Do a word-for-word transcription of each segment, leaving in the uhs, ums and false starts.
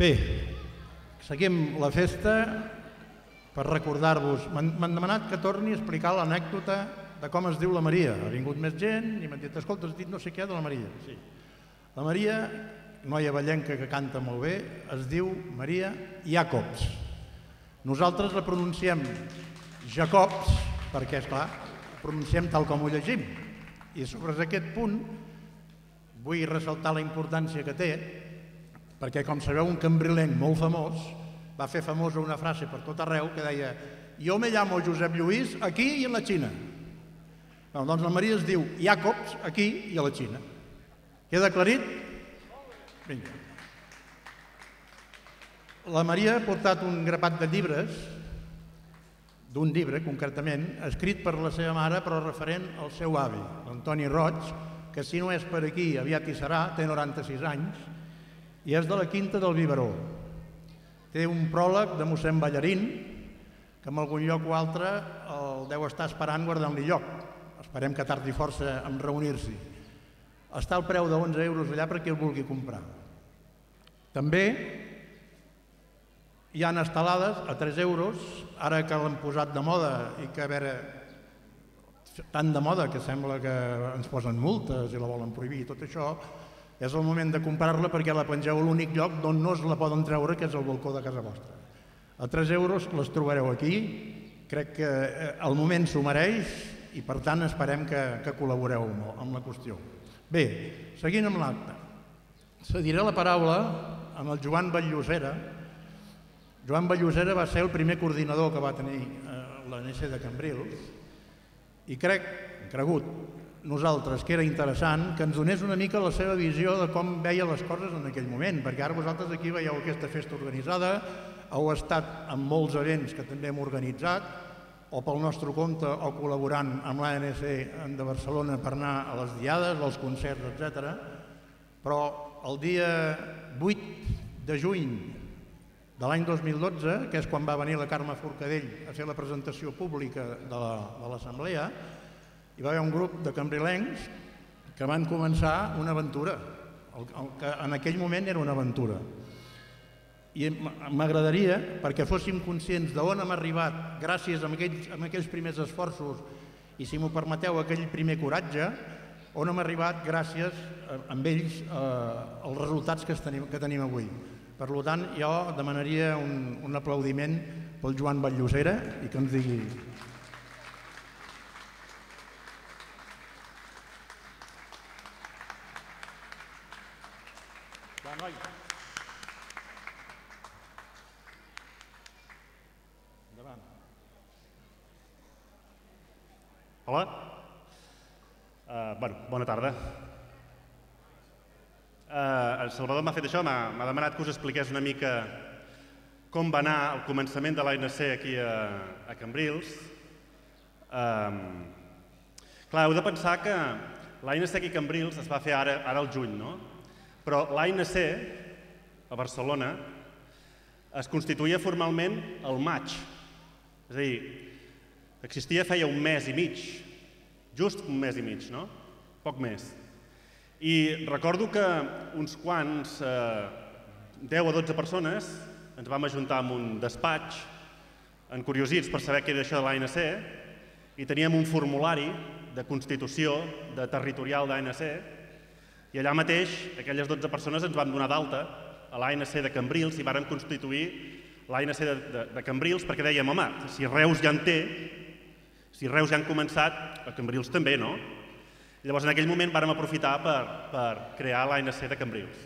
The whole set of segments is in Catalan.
Bé, seguim la festa per recordar-vos. M'han demanat que torni a explicar l'anècdota de com es diu la Maria. Ha vingut més gent i m'han dit, escolta, has dit no sé què de la Maria. Sí. La Maria, noia ballenca que canta molt bé, es diu Maria Jacobs. Nosaltres la pronunciem Jacobs perquè, esclar, la pronunciem tal com ho llegim. I sobre aquest punt vull ressaltar la importància que té, perquè, com sabeu, un cambrilenc molt famós va fer famosa una frase per tot arreu que deia «Jo me llamo Josep Lluís aquí i a la Xina». Doncs la Maria es diu Jacobs aquí i a la Xina. Queda aclarit? Vinga. La Maria ha portat un grapat de llibres, d'un llibre concretament, escrit per la seva mare però referent al seu avi, l'Antoni Roig, que si no és per aquí aviat hi serà, té noranta-sis anys, i és de la Quinta del Biberó. Té un pròleg de mossèn Ballarín, que en algun lloc o altre el deu estar esperant guardant-li lloc. Esperem que tardi força en reunir-s'hi. Està al preu d'onze euros allà per qui el vulgui comprar. També hi ha estelades a tres euros, ara que l'han posat de moda i que, a veure, tan de moda que sembla que ens posen multes i la volen prohibir i tot això, és el moment de comprar-la perquè la pengeu a l'únic lloc d'on no es la poden treure, que és el balcó de casa vostra. A tres euros les trobareu aquí, crec que el moment s'ho mereix i per tant esperem que col·laboreu amb la qüestió. Bé, seguint amb l'acte, cediré la paraula amb el Joan Batllosera. Joan Batllosera va ser el primer coordinador que va tenir l'A N C de Cambrils i crec, hem cregut, nosaltres, que era interessant que ens donés una mica la seva visió de com veia les coses en aquell moment, perquè ara vosaltres aquí veieu aquesta festa organitzada, heu estat en molts events que també hem organitzat, o pel nostre compte o col·laborant amb l'A N C de Barcelona per anar a les diades, als concerts, etcètera. Però el dia vuit de juny de l'any dos mil dotze, que és quan va venir la Carme Forcadell a fer la presentació pública de l'assemblea, hi va haver un grup de cambrilencs que van començar una aventura, el que en aquell moment era una aventura. I m'agradaria, perquè fóssim conscients d'on hem arribat gràcies a aquells primers esforços i, si m'ho permeteu, aquell primer coratge, on hem arribat gràcies amb ells als resultats que tenim avui. Per tant, jo demanaria un aplaudiment pel Joan Batllosera i que ens digui... Hola. Bona tarda. El Salvador m'ha fet això, m'ha demanat que us expliqués una mica com va anar el començament de l'A N C aquí a Cambrils. Clar, heu de pensar que l'A N C aquí a Cambrils es va fer ara al juny, no? Però l'A N C a Barcelona es constituïa formalment al maig. És a dir, existia feia un mes i mig, just un mes i mig, no? Poc més. I recordo que uns quants, deu o dotze persones, ens vam ajuntar en un despatx, encuriosits per saber què era això de l'A N C, i teníem un formulari de constitució de territorial d'A N C, i allà mateix aquelles dotze persones ens van donar d'alta a l'A N C de Cambrils i vàrem constituir l'A N C de Cambrils perquè dèiem, home, si Reus ja en té, si Reus ja han començat, a Cambrils també, no? Llavors, en aquell moment vàrem aprofitar per crear l'A N C de Cambrils.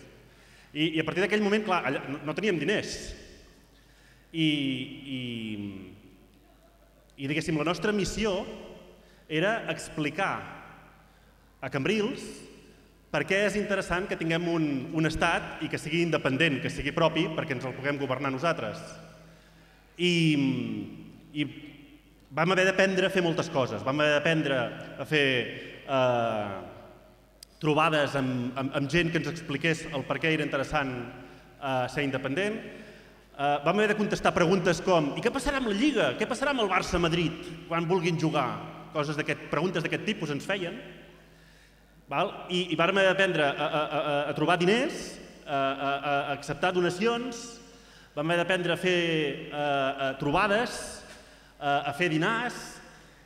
I a partir d'aquell moment, clar, no teníem diners. I, diguéssim, la nostra missió era explicar a Cambrils per què és interessant que tinguem un estat i que sigui independent, que sigui propi, perquè ens el puguem governar nosaltres. I vam haver d'aprendre a fer moltes coses. Vam haver d'aprendre a fer trobades amb gent que ens expliqués el per què era interessant ser independent. Vam haver de contestar preguntes com i què passarà amb la Lliga? Què passarà amb el Barça-Madrid quan vulguin jugar? Preguntes d'aquest tipus ens feien. I vàrem haver d'aprendre a trobar diners, a acceptar donacions, vam haver d'aprendre a fer trobades, a fer dinars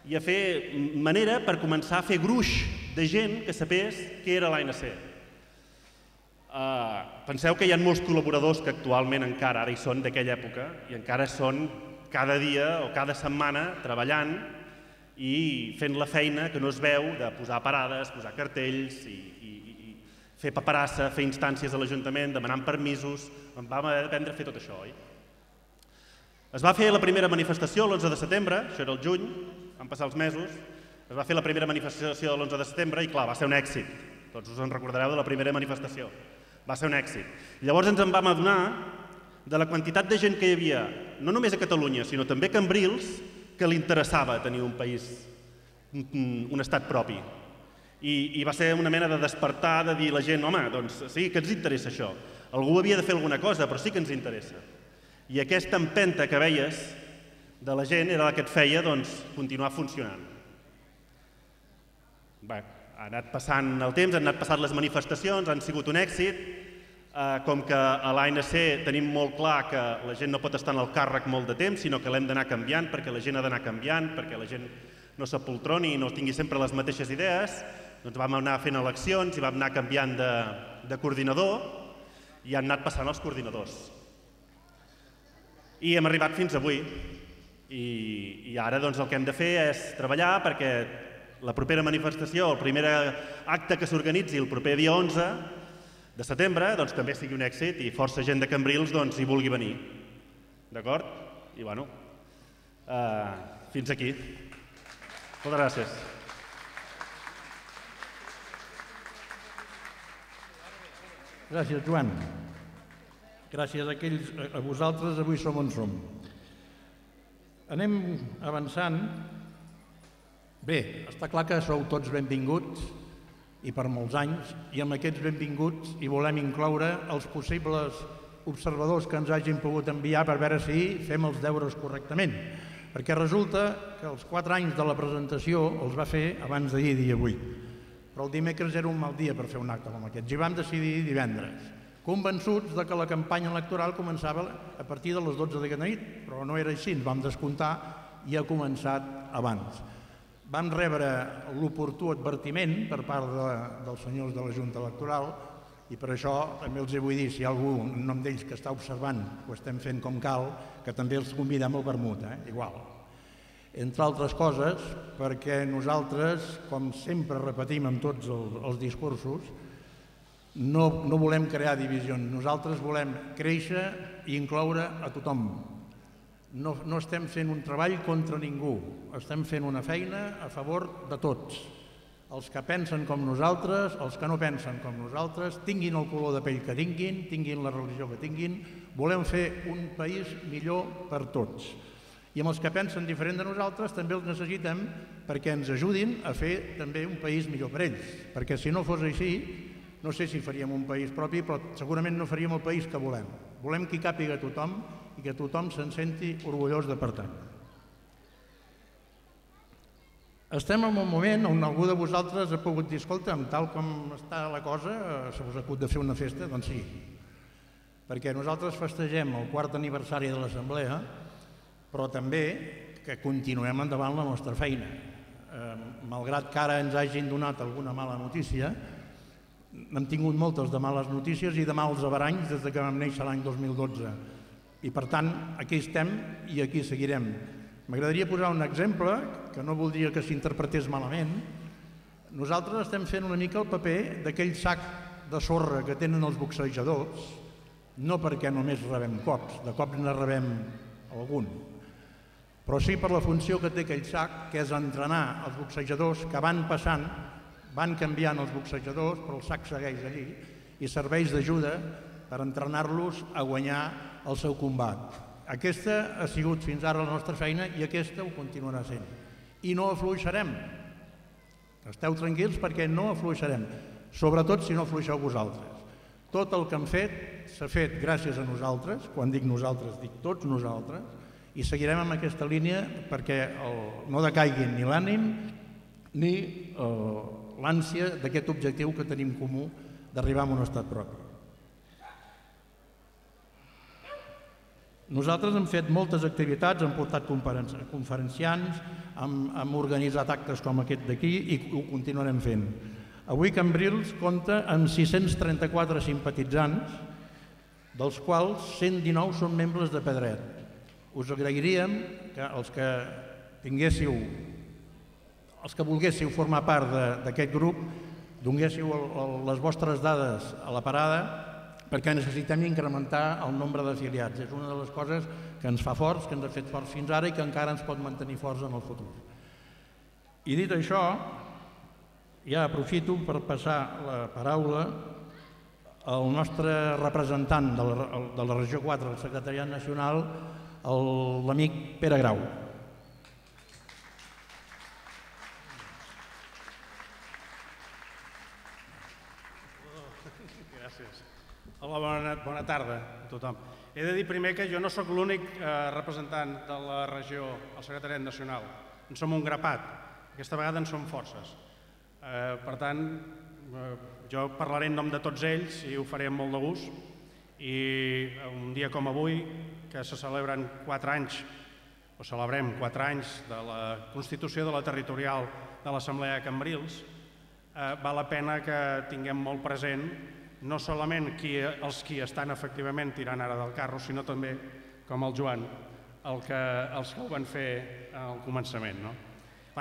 i a fer manera per començar a fer gruix de gent que sapés què era l'A N C. Penseu que hi ha molts col·laboradors que actualment encara ara hi són d'aquella època i encara són cada dia o cada setmana treballant i fent la feina que no es veu de posar parades, posar cartells i fer paperassa, fer instàncies a l'Ajuntament, demanant permisos. Vam haver d'aprendre a fer tot això, oi? Es va fer la primera manifestació l'onze de setembre, això era el juny, van passar els mesos, es va fer la primera manifestació de l'onze de setembre i, clar, va ser un èxit. Tots us en recordareu de la primera manifestació. Va ser un èxit. Llavors ens en vam adonar de la quantitat de gent que hi havia, no només a Catalunya, sinó també a Cambrils, que li interessava tenir un país, un estat propi. I va ser una mena de despertar, de dir a la gent, home, doncs sí que ens interessa això. Algú havia de fer alguna cosa, però sí que ens interessa. I aquesta empenta que veies de la gent era la que et feia continuar funcionant. Bé, ha anat passant el temps, han anat passant les manifestacions, han sigut un èxit. Com que a l'A N C tenim molt clar que la gent no pot estar en el càrrec molt de temps, sinó que l'hem d'anar canviant, perquè la gent ha d'anar canviant, perquè la gent no s'apoltroni i no tingui sempre les mateixes idees, doncs vam anar fent eleccions i vam anar canviant de coordinador i han anat passant els coordinadors. I hem arribat fins avui. I ara el que hem de fer és treballar perquè la propera manifestació, el primer acte que s'organitzi el proper dia onze de setembre també sigui un èxit i força gent de Cambrils hi vulgui venir. D'acord? I bueno, fins aquí. Moltes gràcies. Gràcies, Joan. Gràcies a vosaltres, avui som on som. Anem avançant. Bé, està clar que sou tots benvinguts i per molts anys, i amb aquests benvinguts hi volem incloure els possibles observadors que ens hagin pogut enviar per veure si fem els deures correctament. Perquè resulta que els quatre anys de la presentació els va fer abans d'ahir i avui. Però el dimecres era un mal dia per fer un acte com aquest. I vam decidir divendres, convençuts que la campanya electoral començava a partir de les dotze d'aquesta nit, però no era així, ens vam descomptar i ha començat abans. Vam rebre l'oportú advertiment per part dels senyors de la Junta Electoral i per això també els vull dir, si hi ha algú en nom d'ells que està observant que ho estem fent com cal, que també els convidem al vermut, igual. Entre altres coses, perquè nosaltres, com sempre repetim en tots els discursos, no volem crear divisions, nosaltres volem créixer i incloure a tothom. No estem fent un treball contra ningú, estem fent una feina a favor de tots. Els que pensen com nosaltres, els que no pensen com nosaltres, tinguin el color de pell que tinguin, tinguin la religió que tinguin, volem fer un país millor per tots. I amb els que pensen diferent de nosaltres també els necessitem perquè ens ajudin a fer també un país millor per ells. Perquè si no fos així, no sé si faríem un país propi, però segurament no faríem el país que volem. Volem que hi càpiga tothom i que tothom se'n senti orgullós de pertànyer. Estem en un moment on algú de vosaltres ha pogut dir, escolta'm, tal com està la cosa, se us acut de fer una festa? Doncs sí, perquè nosaltres festegem el quart aniversari de l'Assemblea, però també que continuem endavant la nostra feina. Malgrat que ara ens hagin donat alguna mala notícia, n'hem tingut moltes de males notícies i de mals averanys des que vam néixer l'any dos mil dotze. I per tant, aquí estem i aquí seguirem. M'agradaria posar un exemple que no voldria que s'interpretés malament. Nosaltres estem fent una mica el paper d'aquell sac de sorra que tenen els boxejadors, no perquè només rebem cops, de cops ne rebem algun, però sí per la funció que té aquell sac, que és entrenar els boxejadors que van passant, van canviant els boxejadors, però el sac segueix allí i serveix d'ajuda per entrenar-los a guanyar el seu combat. Aquesta ha sigut fins ara la nostra feina i aquesta ho continuarà sent. I no afluixarem. Esteu tranquils perquè no afluixarem, sobretot si no afluixeu vosaltres. Tot el que hem fet s'ha fet gràcies a nosaltres, quan dic nosaltres dic tots nosaltres, i seguirem amb aquesta línia perquè no decaiguin ni l'ànim ni l'ànsia d'aquest objectiu que tenim comú d'arribar a un estat propi. Nosaltres hem fet moltes activitats, hem portat conferenciants, hem organitzat actes com aquest d'aquí i ho continuarem fent. Avui Cambrils compta amb sis-cents trenta-quatre simpatitzants, dels quals cent dinou són membres de Pedret. Us agrairíem que els que tinguéssiu, els que volguéssiu formar part d'aquest grup, donguéssiu les vostres dades a la parada perquè necessitem incrementar el nombre d'afiliats. És una de les coses que ens fa forts, que ens ha fet forts fins ara i que encara ens pot mantenir forts en el futur. I dit això, ja aprofito per passar la paraula al nostre representant de la regió quatre del Secretariat Nacional, l'amic Pere Grau. Gràcies. Hola, bona tarda a tothom. He de dir primer que jo no sóc l'únic representant de la regió al Secretariat Nacional. En som un grapat. Aquesta vegada en som forces. Per tant, jo parlaré en nom de tots ells i ho faré amb molt de gust. I un dia com avui, que se celebren quatre anys, o celebrem quatre anys de la Constitució de la Territorial de l'Assemblea de Cambrils, val la pena que tinguem molt present no solament els qui estan efectivament tirant ara del carro, sinó també, com el Joan, els que ho van fer al començament.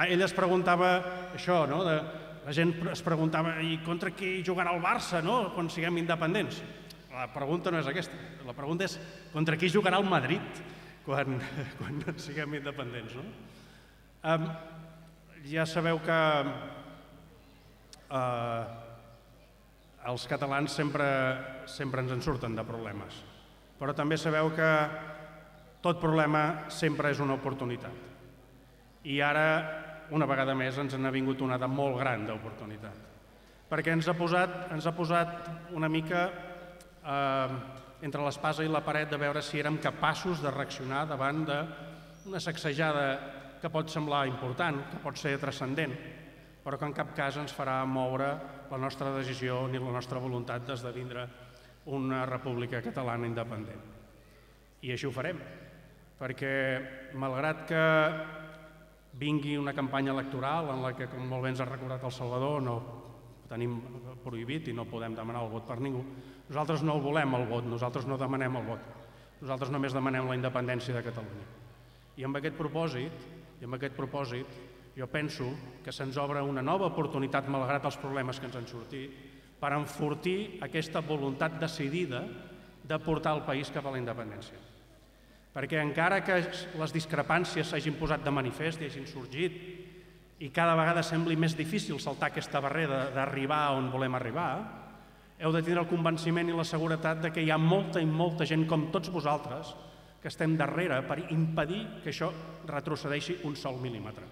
Ell es preguntava això, la gent es preguntava i contra qui jugarà el Barça quan siguem independents? La pregunta no és aquesta, la pregunta és contra qui jugarà el Madrid quan siguem independents. Ja sabeu que els catalans sempre ens en surten de problemes, però també sabeu que tot problema sempre és una oportunitat. I ara, una vegada més, ens n'ha vingut una de molt gran d'oportunitat, perquè ens ha posat una mica entre l'espasa i la paret de veure si érem capaços de reaccionar davant d'una sacsejada que pot semblar important, que pot ser transcendent, però que en cap cas ens farà moure la nostra decisió ni la nostra voluntat d'esdevindre una república catalana independent. I així ho farem, perquè malgrat que vingui una campanya electoral en la que, com molt bé ens ha recordat el Salvador, no tenim prohibit i no podem demanar el vot per ningú, nosaltres no el volem el vot, nosaltres no demanem el vot, nosaltres només demanem la independència de Catalunya. I amb aquest propòsit, i amb aquest propòsit, jo penso que se'ns obre una nova oportunitat, malgrat els problemes que ens han sortit, per enfortir aquesta voluntat decidida de portar el país cap a la independència. Perquè encara que les discrepàncies s'hagin posat de manifest i hagin sorgit i cada vegada sembli més difícil saltar aquesta barrera d'arribar on volem arribar, heu de tenir el convenciment i la seguretat que hi ha molta i molta gent com tots vosaltres que estem darrere per impedir que això retrocedeixi un sol mil·límetre.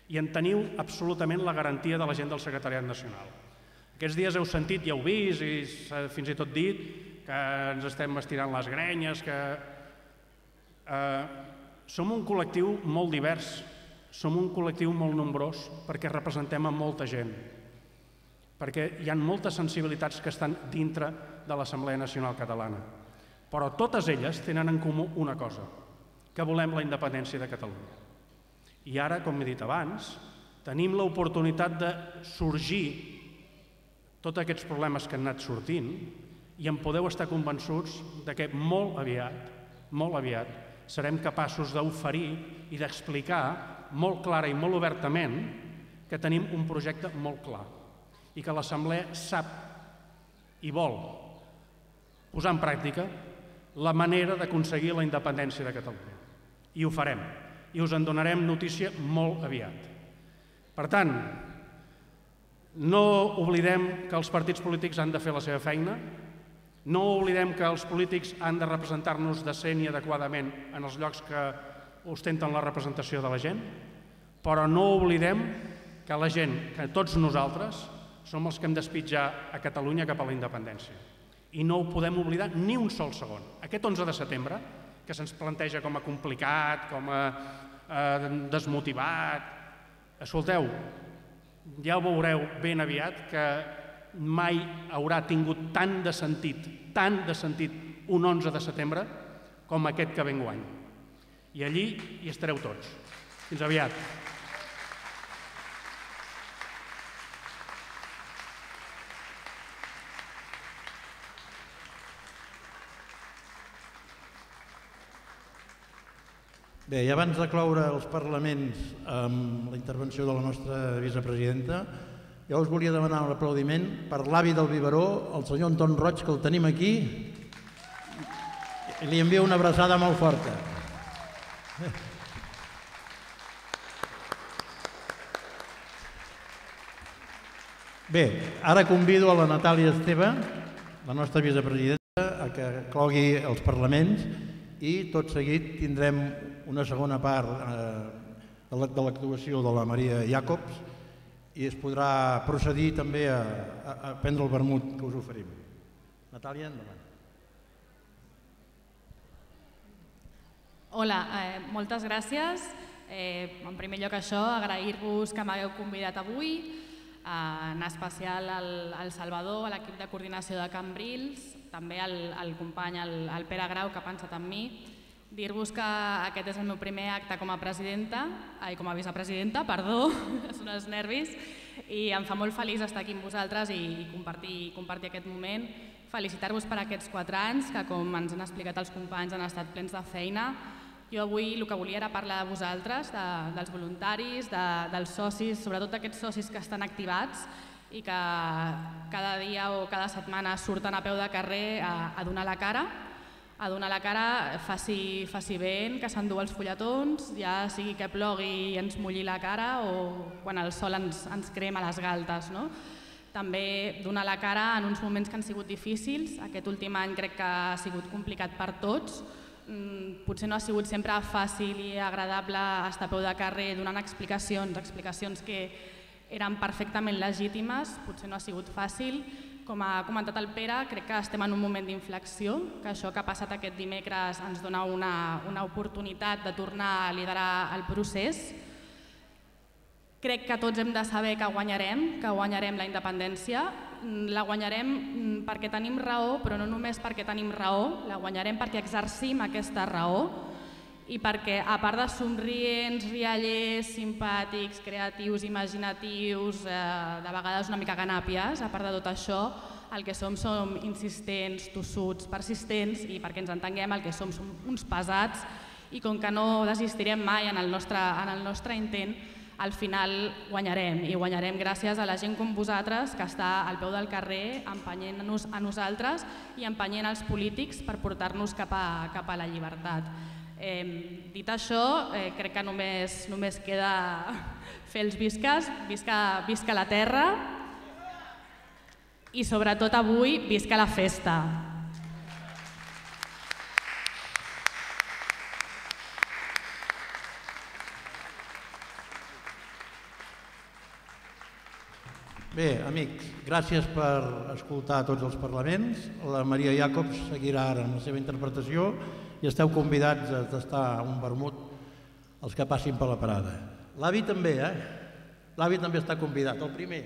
I en teniu absolutament la garantia de la gent del Secretariat Nacional. Aquests dies heu sentit i heu vist i fins i tot dit que ens estem estirant les grenyes, que som un col·lectiu molt divers, som un col·lectiu molt nombrós perquè representem a molta gent, perquè hi ha moltes sensibilitats que estan dintre de l'Assemblea Nacional Catalana, però totes elles tenen en comú una cosa, que volem la independència de Catalunya. I ara, com he dit abans, tenim l'oportunitat de sorgir tots aquests problemes que han anat sortint i en podeu estar convençuts que molt aviat, molt aviat, serem capaços d'oferir i d'explicar molt clara i molt obertament que tenim un projecte molt clar i que l'Assemblea sap i vol posar en pràctica la manera d'aconseguir la independència de Catalunya. I ho farem. I us en donarem notícia molt aviat. Per tant, no oblidem que els partits polítics han de fer la seva feina, no oblidem que els polítics han de representar-nos decent i adequadament en els llocs que ostenten la representació de la gent, però no oblidem que la gent, que tots nosaltres, som els que hem d'espitjar a Catalunya cap a la independència. I no ho podem oblidar ni un sol segon. Aquest onze de setembre, que se'ns planteja com a complicat, com a desmotivat. Escolteu, ja ho veureu ben aviat que mai haurà tingut tant de sentit, tant de sentit un onze de setembre com aquest que ve enguany. I allí hi estareu tots. Fins aviat. Bé, i abans de cloure els parlaments amb la intervenció de la nostra vicepresidenta, jo us volia demanar un aplaudiment per l'avi del biberó, el senyor Anton Roig, que el tenim aquí, i li envio una abraçada molt forta. Bé, ara convido a la Natàlia Esteve, la nostra vicepresidenta, a que clogui els parlaments i tot seguit tindrem una segona part de l'actuació de la Maria Jacobs i es podrà procedir també a prendre el vermut que us oferim. Natàlia, endavant. Hola, moltes gràcies. En primer lloc això, agrair-vos que m'hagueu convidat avui, en especial al Salvador, a l'equip de coordinació de Cambrils, també al company, al Pere Grau, que ha pensat en mi. Dir-vos que aquest és el meu primer acte com a presidenta, ai, com a vicepresidenta, perdó, són els nervis, i em fa molt feliç estar aquí amb vosaltres i compartir, compartir aquest moment. Felicitar-vos per aquests quatre anys, que com ens han explicat els companys han estat plens de feina. Jo avui el que volia era parlar de vosaltres, de, dels voluntaris, de, dels socis, sobretot d'aquests socis que estan activats i que cada dia o cada setmana surten a peu de carrer a, a donar la cara, a donar la cara, faci, faci vent, que s'endú els fulletons, ja sigui que plogui i ens mulli la cara o quan el sol ens, ens crema les galtes. No? També donar la cara en uns moments que han sigut difícils. Aquest últim any crec que ha sigut complicat per tots. Potser no ha sigut sempre fàcil i agradable estar a peu de carrer donant explicacions, explicacions que eren perfectament legítimes, potser no ha sigut fàcil. Com ha comentat el Pere, crec que estem en un moment d'inflexió, que això que ha passat aquest dimecres ens dona una, una oportunitat de tornar a liderar el procés. Crec que tots hem de saber que guanyarem, que guanyarem la independència. La guanyarem perquè tenim raó, però no només perquè tenim raó, la guanyarem perquè exercim aquesta raó i perquè, a part de somrients, riallers, simpàtics, creatius, imaginatius, eh, de vegades una mica ganàpies, a part de tot això, el que som som insistents, tossuts, persistents i perquè ens entenguem el que som som uns pesats i com que no desistirem mai en el nostre, en el nostre intent, al final guanyarem i guanyarem gràcies a la gent com vosaltres que està al peu del carrer empenyent-nos a nosaltres i empenyent els polítics per portar-nos cap a, cap a la llibertat. Eh, dit això, eh, crec que només, només queda fer els visques, visca, visca la terra i sobretot avui visca la festa. Bé, amics, gràcies per escoltar tots els parlaments. La Maria Jacobs seguirà ara amb la seva interpretació i esteu convidats a tastar un vermut els que passin per la parada. L'avi també, eh? L'avi també està convidat, el primer.